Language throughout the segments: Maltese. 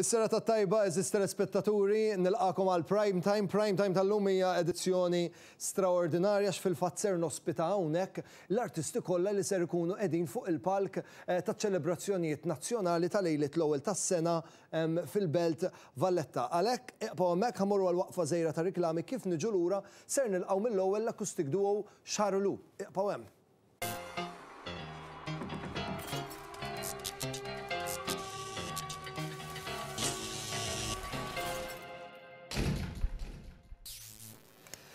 Is-serata t-tajba, għeżież telespettaturi, nilqagħkom għal Prime Time. Prime Time tal-lum hija edizzjoni straordinarja għax fil-fatt ser nospita hawnhekk l-artisti kollha li ser ikunu qegħdin fuq il-palk taċ-ċelebrazzjonijiet nazzjonali ta' lejliet l-ewwel tas-sena fil-Belt Valletta. Għalhekk, iqbgħu hemmhekk, ħa mmorru għal waqfa żgħira ta' riklami, kif niġu lura ser nilqgħu mill-ewwel l-acoustic duo Xarulu. Iqbgħu hemm.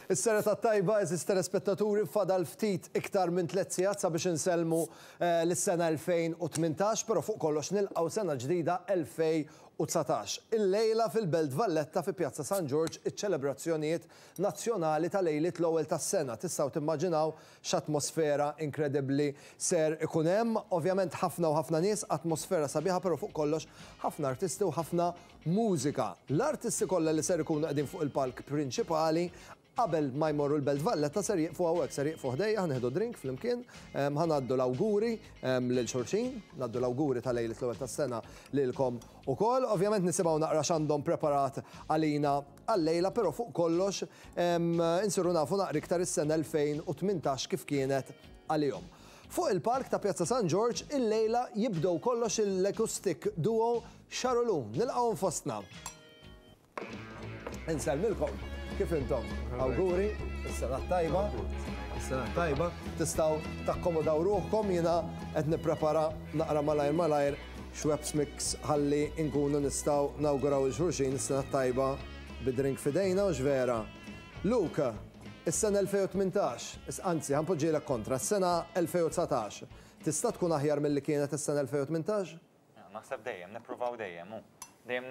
Is-serata t-tajba, għeżież telespettaturi, fadal ftit iktar minn tliet sigħat sabiex insellmu lis-sena 2018, però fuq kollox nilqgħu sena ġdida 2019. Illejla fil-Belt Valletta fi Pjazza San Ġorġ iċ-ċelebrazzjonijiet nazzjonali ta' lejliet l-ewwel tas-sena. Tistgħu timmaġinaw X'atmosfera inkredibbli ser ikun hemm. Ovvjament ħafna u ħafna nies, atmosfera sabiħa però fuq kollox ħafna artisti u ħafna mużika. L-artisti kollha li ser ikunu qegħdin fuq il-palk prinċipali qabel ma jmorru l-Belt Valletta ser jieqfu hawnhekk, ser jieqfu ħdejja, ħa nieħdu drink flimkien, ħa ngħaddu l-awguri lil xulxin, ngħaddu l-awguri ta' lejliet l-ewwel tas-sena lilkom ukoll. Ovvjament nisimgħu naqra x'għandhom preparat għalina għal-lejla però fuq kollox insiru nafu naqra iktar is-sena 2018 kif kienet għalihom. Fuq il-palk ta' Pjazza San Ġorġ illejla jibdew kollox l-acoustic duo Xarulu. Nilqgħuhom fostna. Insellmilkom. Kif intom? Awguri, is-sena t-tajba. Is-sena t-tajba. Tistgħu takkomodaw ruħkom jiena qed nipprepara naqra malajr malajr Schweppes mix ħalli nkunu nistgħu nawguraw 'il xulxin is-sena t-tajba bi drink f'idejna hux vera? Luke, is-sena 2018, anzi ħa npoġġielek kontra, is-sena 2019 tista' tkun aħjar milli kienet is-sena 2018? Naħseb dejjem, nippruvaw dejjem, hu. Dejjem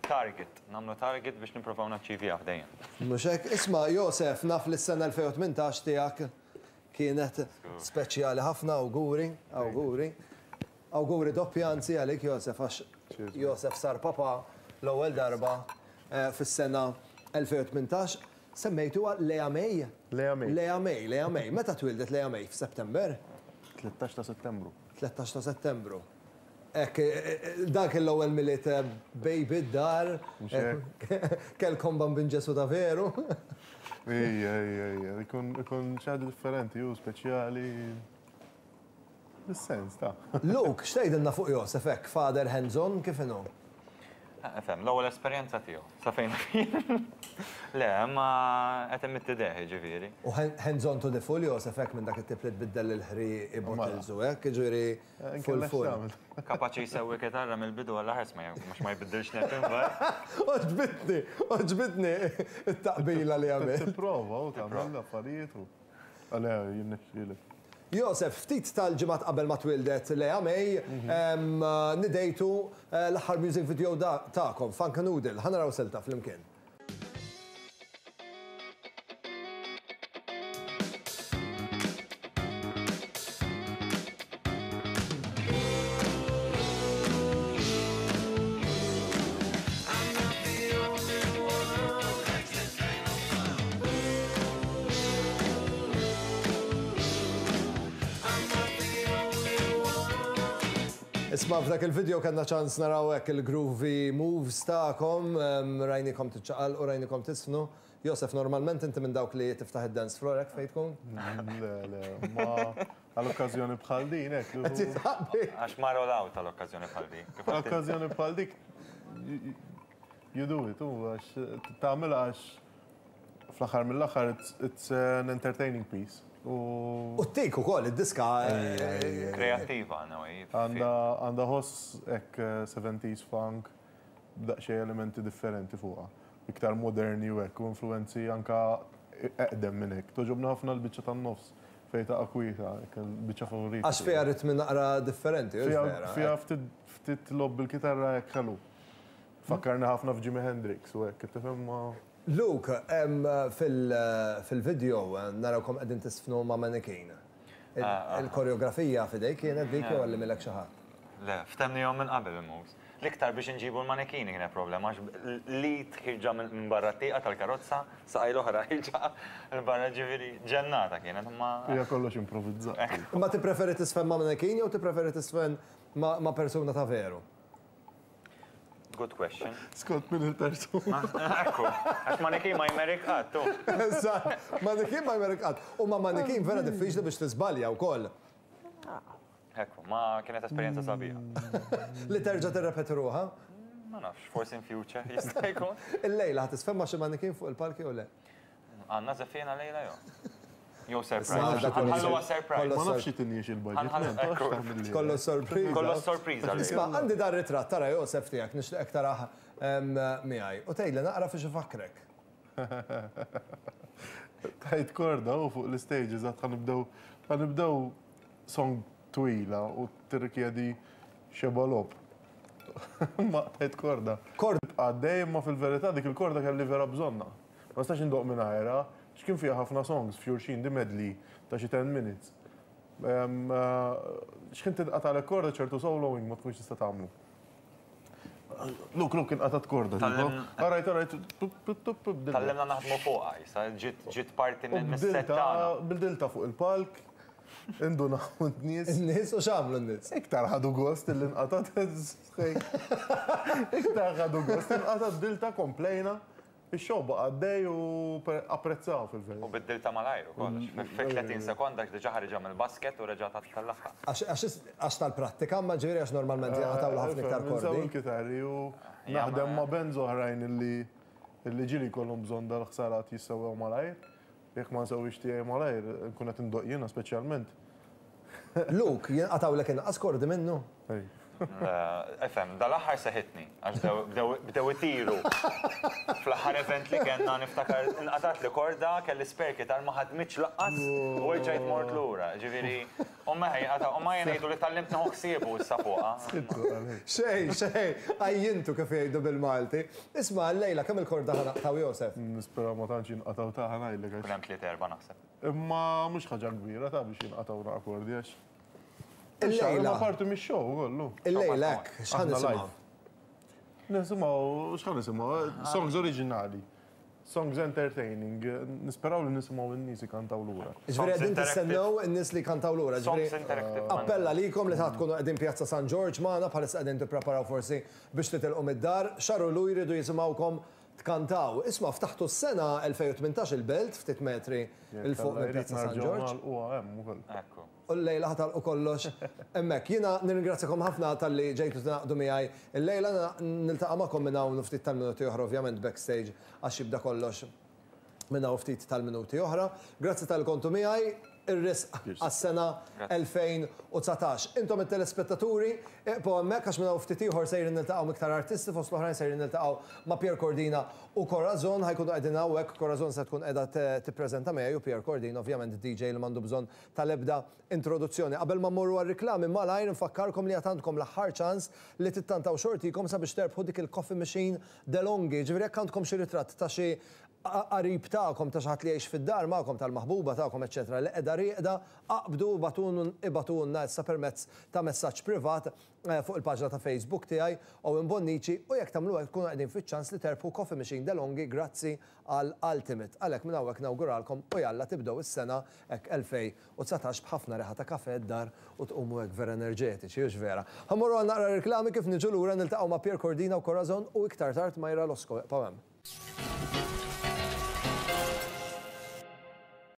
target, nagħmlu target biex nippruvaw naċċivjah dejjem. Mhux hekk? Isma' Josef, naf li s-sena 2018 tiegħek kienet speċjali ħafna, awguri, awguri. Awguri doppji anzi għalik Josef għax Josef sar papa l-ewwel darba fis-sena 2018. Semmejtuha Lea May? Lea May. Lea May, Lea May. Meta twieldet Lea May? F'September? 13 ta' Settembru. 13 ta' Settembru. Hekk, dan kien l-ewwel Milied baby d-dar. Mhux hekk? Kellkom Bambin Ġesù ta' veru. Ejja, ejja, ejja. Ikun xi ħaġa differenti, hu speċjali. Bis-sens, ta. Luke, x'tgħidilna fuq Josef hekk, father hands on, kif inhu? Ifhem, l-ewwel esperjenza tiegħu, sa fejn naf jien. Le, imma qed imidd idejh, jiġifieri. U hands on to the full Josef hekk minn dak it-tip li tbiddel il-ħrieqi, bottles u hekk, jiġifieri full full. Kapaċi jsewwi kitarra mill-bidu għall-aħħar ma mhux ma jbiddilx nepp imbagħad. Għoġbitni, għoġbitni t-taqbila li għamilt. Tipprova u tagħmel l-affarijiet u. Le, jirnexxielek. Josef, ftit tal-ġimgħat qabel ma twieldet Lea May, nidejtu l-aħħar music video tagħkom, Funka Noodle. Ħa naraw silta flimkien. Isma' f'dak il-video kellna ċans naraw hekk il-groovy moves tagħkom, rajnikom tiċċaqalqu, rajnikom tiżfnu. Josef, normalment inti minn dawk li tiftaħ id-dance floor hekk fejn tkun? Le, le, ma għal okkażjoni bħal din hekk. Qed jitħabbi. Għax mar all out għal okkażjoni bħal din. Għal okkażjoni bħal dik you do it, u għax tagħmilha għax fl-aħħar mill-aħħar it's an entertaining piece. U U t-tik ukoll, id-diska. Kreattiva in a way. Għandha ħoss hekk 70s funk b'daqsxejn elementi differenti fuqha. Iktar moderni u hekk u influwenzi anke eqdem minn hekk. Togħġobni ħafna l-biċċa tan-nofs fejn taqa' kwieta, hekk il-biċċa favorita. Għax fiha ritmi naqra differenti, hux vera? Fiha ftit logħob bil-kitarra hekk ħelu. Fakkarni ħafna f'Jimi Hendrix u hekk, tifhem ma. Luke, fil-video narawkom qegħdin tiżfnu ma' mannequin. Il-koreografija f'idejk kienet dik jew għallimilek xi ħadd? Le, ftemnihom minn qabel il-moves. L-iktar biex inġibu l-manekini kienet problema għax l-id ħierġa minn barra t-tieqa tal-karozza, saqaj l-oħra ħierġa 'l barra ġifieri ġennata kienet imma. Hija kollox improvizzat. Imma tippreferi tiżfen ma' mannequin jew tippreferi tiżfen ma' persuna ta' veru? Good question. Skont min il-persuna. Ekku, għax manikin ma jmerik qatt. Eżatt, manikin ma jmerik qatt. U ma manikin vera diffiċli biex tiżbalja wkoll. Ekku, ma kienet esperjenza sabiħa. Li terġa' tirrepeti ruħha? Ma nafx, forsi in future jista' jkun. Illejla ħa tisfemma xi manikin fuq il-palki u le? Għandna żeffiena lejla jew? Jew surprise. Ħalluha surprise. Ma nafx xi il-budget. Kollu sorpriża. Kollu sorpriża. Isma' għandi dar ritratt tara Josef tiegħek nixtieqek tarah miegħi. U tgħidli naqra fiex ifakkrek. Tajt korda u fuq l-stage eżatt ħa nibdew ħa nibdew song twila u tirrikjedi xeba logħob. Ma tajt korda. Korda. Għaddej imma fil-verità dik il-korda kelli vera bżonnha. Ma nistax indoqq mingħajrha, x'kien fiha ħafna songs f'xulxin, di medley ta' xi 10 minutes. X'kien tinqatagħlek korda ċertu soloing ma tkunx tista' tagħmlu. Look, look, inqatgħet korda. All right, all right. Tgħallimna naħdmu fuqha issa, ġiet parti mis-set tagħna. Bdiltha fuq il-palk, indunaw n-nies. In-nies u x'għamlu n-nies? Iktar ħadu gost illi nqatgħet. Iktar ħadu gost inqatgħet bdiltha komplejna. Ix-show baqa' għaddej u apprezzaw fil-verità. U biddiltha malajr ukoll, għax fi 30 sekonda għax diġà ħariġha mill-basket u reġa' tellagħha. Għax tal-prattika, imma ġifieri għax normalment jinqatgħulu ħafna iktar kordi. Insew il-kitarri u naħdem ma' bands oħrajn illi illi ġieli jkollhom bżonn dal-ħsarat jissewwew malajr. Jekk ma nsewwix tiegħi malajr, nkun qed indoqq jiena speċjalment. Luke, jinqatgħulek inqas kordi minnu? Ej. Ifhem, dal-aħħar seħitni, għax bdew itiru. Fl-aħħar event li kellna niftakar inqatgħatli korda, kelli spare guitar ma ħadmitx lanqas u rġajt mort lura. Ġifieri, u meħe jinqata' u ma jien ngħidu li tgħallimt nieħu ħsiebu issa fuqha. Xejn, xejn, għajjintu kif jgħidu bil-Malti. Isma' llejla kemm il-korda ħa naqtgħu Josef? Nispera ma tantx jinqatgħu ta' ħa ngħidlek għax. Ikun hemm tliet erba' naħseb. Imma mhux ħaġa kbira ta' biex jinqatgħu naqa' kordi għax. Illejla. Ma parti mix-show kollu. Illejla hekk, x'ħa nisimgħu? Nisimgħu, x'ħa nisimgħu? Songs oriġinali. Songs entertaining. Nisperaw li nisimgħu n-nies ikantaw lura. Ġifieri qegħdin tistennew in-nies li jkantaw lura. Ġifieri appella likom li ta' tkunu qegħdin Pjazza San Ġorġ magħna bħalissa qegħdin tippreparaw forsi biex titilqu mid-dar. Xarulu jridu jisimgħukom tkantaw. Isma' ftaħtu s-sena 2018 il-Belt ftit metri 'l fuq minn Pjazza San Ġorġ. Ekku. U llejla ħa tagħlqu kollox hemmhekk. Jiena nirringrazzjakom ħafna talli ġejtu tingħaqdu miegħi illejla. Niltaqa' magħkom minn hawn u ftit tal-minuti oħra ovvjament backstage għax jibda kollox minn hawn ftit tal-minuti oħra. Grazzi talli kontu miegħi. Ir-risq għas-sena 2019. Intom it-telespettaturi, iqbgħu hemmhekk għax minn hawn ftit ieħor sejrin niltaqgħu m'iktar artisti fost l-oħrajn sejrin niltaqgħu ma' Pierre Cordina u Corazon ħa jkunu qegħdin hawnhekk. Corazon se tkun qiegħda tippreżenta miegħi u Pierre Cordina ovvjament DJ li m'għandu bżonn tal-ebda introduzzjoni. Qabel ma mmorru għar-riklami malajr nfakkarkom li għad għandkom l-aħħar ċans li tittantaw xortikom sabiex terbħu dik il-coffee machine DeLonghi. Jiġifieri jekk għandkom xi ritratt ta' xi qarib tagħkom, ta' xi ħadd li jgħix fid-dar magħkom, tal-maħbuba tagħkom eċċetera li qiegħda rieqda, aqbdu u ibagħtulna issa permezz ta' messaġġ privat fuq il-paġna ta' Facebook tiegħi, Owen Bonnici, u jekk tagħmlu hekk tkunu qegħdin fiċ-ċans li terbħu Coffee Machine DeLonghi grazzi għal Ultimate. Għalhekk minn hawnhekk nawguralkom u jalla tibdew is-sena hekk 2019 b'ħafna riħa ta' kafè d-dar u tqumu hekk vera enerġetiċi, hux vera? Ħa mmorru għal naqra riklami kif niġu lura niltaqgħu ma' Pierre Cordina u Corazon u iktar tard Myra Losco. Iqbgħu hemm.